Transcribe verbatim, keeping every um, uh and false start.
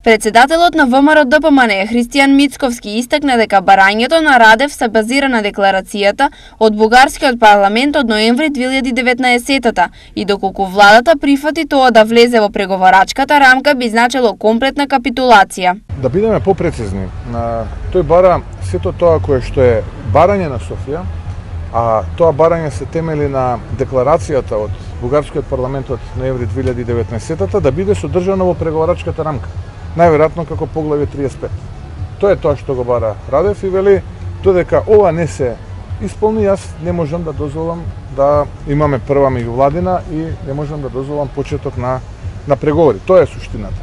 Председателот на ВМРО-ДПМН Христијан Мицковски истакна дека барањето на Радев се базира на декларацијата од бугарскиот парламент од ноември две илјади и деветнаесетта и доколку владата прифати тоа да влезе во преговарачката рамка би значило комплетна капитулација. Да бидеме попрецизни, тој бара сето тоа кое што е барање на Софија, а тоа барање се темели на декларацијата од бугарскиот парламент од ноември две илјади и деветнаесетта да биде содржано во преговарачката рамка. Најверојатно како поглавје триесет и пет. Тоа е тоа што го бара Радев и вели додека ова не се исполни, јас не можам да дозволам да имаме прва меѓувладина и не можам да дозволам почеток на на преговори. Тоа е суштината.